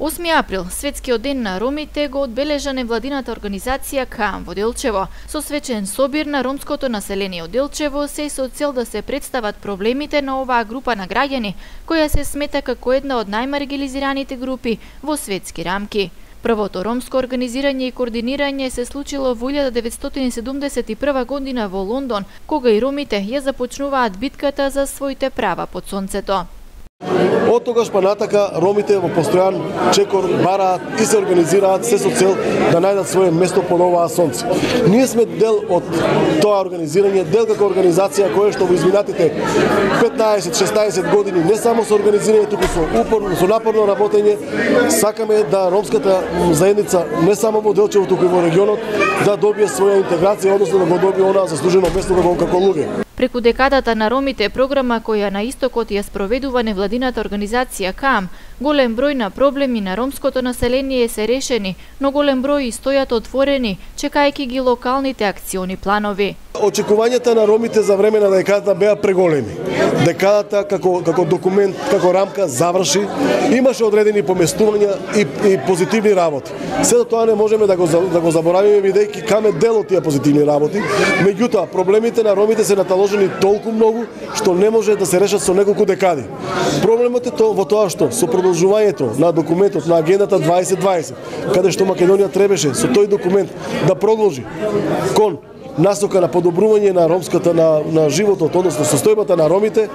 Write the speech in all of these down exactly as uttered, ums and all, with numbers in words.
осми април, светскиот ден на ромите, го одбележа невладината организација КААМ во Делчево. Со свечен собир на ромското население од Делчево се со цел да се представат проблемите на оваа група на граѓани, која се смета како една од најмаргинализираните групи во светски рамки. Првото ромско организирање и координирање се случило во илјада деветстотини седумдесет и прва година во Лондон, кога и ромите ја започнуваат битката за своите права под сонцето. Од тогаш па натака ромите во постојан чекор бараат и се организираат се со цел да најдат свое место под оваа сонце. Ние сме дел од тоа организирање, дел како организација која што во изминатите петнаесет-шеснаесет години не само со организирање, туку со упорно, со напорно работење, сакаме да ромската заедница не само во Делчево, туку и во регионот да добие своја интеграција, односно да го добие онаа заслужено место како како луѓе. Преку декадата на ромите, програма која на истокот ја спроведува невладината организација КААМ, голем број на проблеми на ромското население се решени, но голем број и стојат отворени, чекајќи ги локалните акциони планови. Очекувањата на ромите за време на декадата беа преголеми. Декадата како како документ, како рамка заврши, имаше одредени поместувања и, и позитивни работи. Сето тоа не можеме да го да го заборавиме бидејќи КААМ е дел од тие позитивни работи. Меѓутоа, проблемите на ромите се наталожени толку многу што не може да се решат со неколку декади. Проблемот е тоа во тоа што со продолжувањето на документот на агендата дваесет дваесет, каде што Македонија требаше со тој документ да продолжи кон насока на подобрување на ромската на, на животот, односно состојбата на ромите,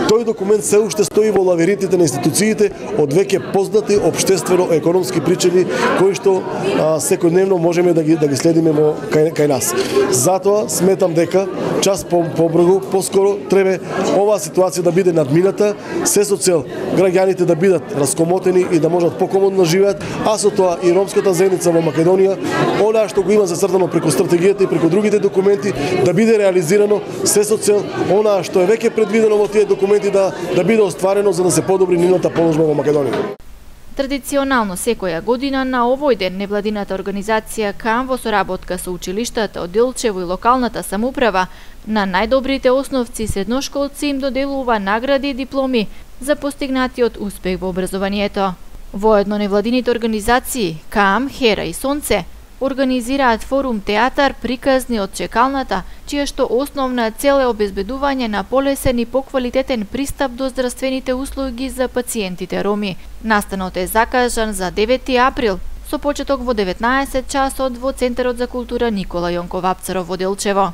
тој документ се уште стои во лавиринтите на институциите од веќе познати општествено-економски причини кои што а, секојдневно можеме да ги да ги следиме во кај, кај нас. Затоа сметам дека час по побрзо, поскоро треба оваа ситуација да биде надмината, се со цел граѓаните да бидат раскомотени и да можат покомодно да живеат, а со тоа и ромската заедница во Македонија, она што го има зацртано преку стратегијата и преку другите документи да биде реализирано се со цел онаа што е веќе предвидено во тие документи да да биде остварено за да се подобри нивната положба во Македонија. Традиционално секоја година на овој ден невладината организација КААМ во соработка со училиштата од Делчево и локалната самоуправа на најдобрите основци средношколци им доделува награди и дипломи за постигнатиот успех во образованието. Воедно невладините организации КААМ, Хера и Сонце организираат форум театар приказни од чекалната, чија што основна цел е обезбедување на полесен и поквалитетен пристап до здравствените услуги за пациентите роми. Настанот е закажан за девети април, со почеток во деветнаесет часот во Центарот за култура Никола Јонков Апцаров во Делчево.